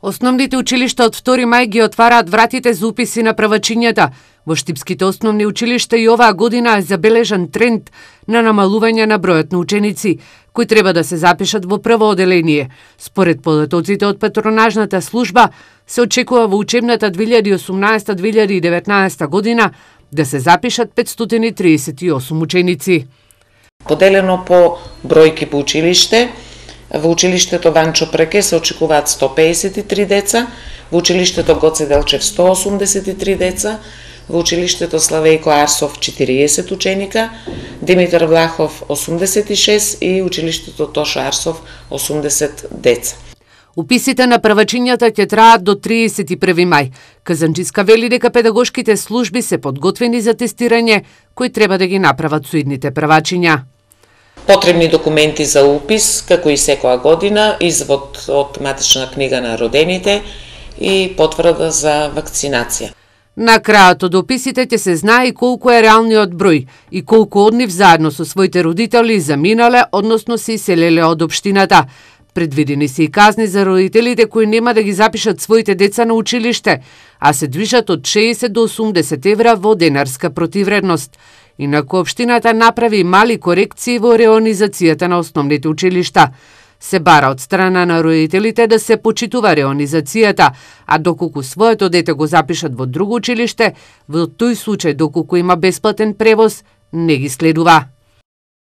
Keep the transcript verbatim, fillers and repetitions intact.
Основните училишта од втори мај ги отвараат вратите за уписи на првачињата. Во штипските основни училишта и оваа година е забележан тренд на намалување на бројот на ученици, кои треба да се запишат во прво оделение. Според податоците од патронажната служба, се очекува во учебната две илјади и осумнаесета две илјади и деветнаесета година да се запишат петстотини и триесет и осум ученици. Поделено по бројки по училиште, во училиштето Ванчо Преке се очекуваат сто пеесет и три деца, во училиштето Гоце Делчев сто осумдесет и три деца, во училиштето Славејко Арсов четириесет ученика, Димитар Влахов осумдесет и шест и училиштето Тошо Арсов осумдесет деца. Уписите на првачињата ќе траат до триесет и први мај. Казанчиска вели дека педагошките служби се подготвени за тестирање, кои треба да ги направат со идните првачиња. Потребни документи за упис, како и секоја година, извод од матична книга на родените и потврда за вакцинација. На крајот од описите ќе се знае и колку е реалниот број и колку од нив заедно со своите родители заминале, односно се иселеле од општината. Предвидени се и казни за родителите кои нема да ги запишат своите деца на училиште, а се движат од шеесет до осумдесет евра во денарска противредност. Инаку општината направи мали корекции во реонизацијата на основните училишта. Се бара од страна на родителите да се почитува реонизацијата, а доколку своето дете го запишат во друго училиште, во тој случај доколку има бесплатен превоз, не ги следува.